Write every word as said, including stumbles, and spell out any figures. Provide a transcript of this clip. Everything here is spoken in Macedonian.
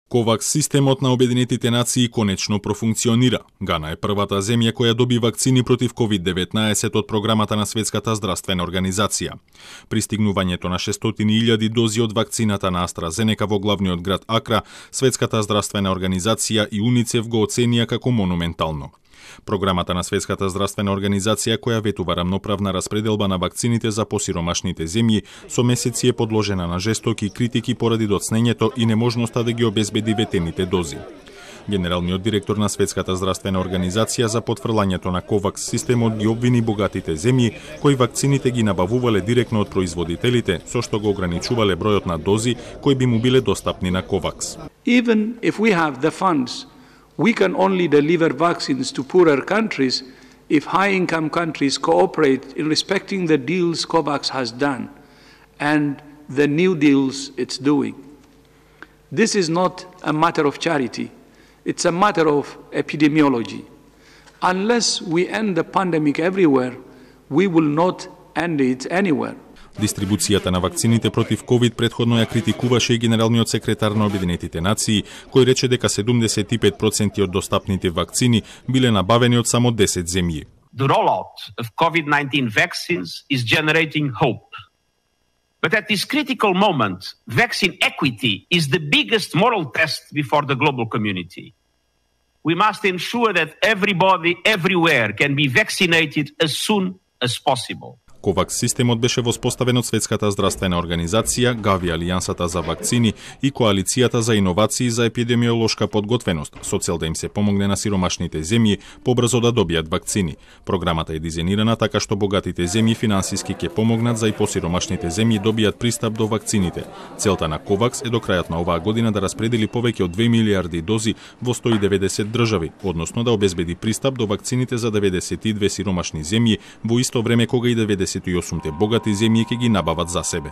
Ковакс системот на Обединетите нации конечно профункционира. Гана е првата земја која доби вакцини против ковид деветнаесет од програмата на Светската здравствена организација. Пристигнувањето на шестстотини илјади дози од вакцината на AstraZeneca во главниот град Акра, Светската здравствена организација и УНИЦЕФ го оценија како монументално. Програмата на Светската здравствена организација, која ветува рамноправна распределба на вакцините за посиромашните земји, со месеци е подложена на жестоки критики поради доцнењето и неможноста да ги обезбеди ветените дози. Генералниот директор на Светската здравствена организација за потврлањето на ковакс системот ги обвини богатите земји кои вакцините ги набавувале директно од производителите, со што го ограничувале бројот на дози кои би му биле достапни на ковакс. Even if we have the funds, we can only deliver vaccines to poorer countries if high-income countries cooperate in respecting the deals COVAX has done and the new deals it's doing. This is not a matter of charity. It's a matter of epidemiology. Unless we end the pandemic everywhere, we will not end it anywhere. Дистрибуцијата на вакцините против ковид претходно ја критикуваше и генералниот секретар на Обединетите нации, кој рече дека седумдесет и пет проценти од достапните вакцини биле набавени од само десет земји. The rollout of COVID nineteen vaccines is generating hope. But at this critical moment, vaccine equity is the biggest moral test before the global community. We must ensure that everybody, everywhere, can be vaccinated as soon as possible. ковакс системот беше воспоставен од Светската здравствена организација, Гави Алијансата за вакцини и Коалицијата за иновации за епидемиолошка подготвеност, со цел да им се помогне на сиромашните земји побрзо да добијат вакцини. Програмата е дизајнирана така што богатите земји финансиски ќе помогнат за и посиромашните земји добијат пристап до вакцините. Целта на ковакс е до крајот на оваа година да распредели повеќе од две милијарди дози во сто и деветдесет држави, односно да обезбеди пристап до вакцините за деветдесет и две сиромашни земји во исто време кога и деветдесет и осум богати земји ќе ги набават за себе.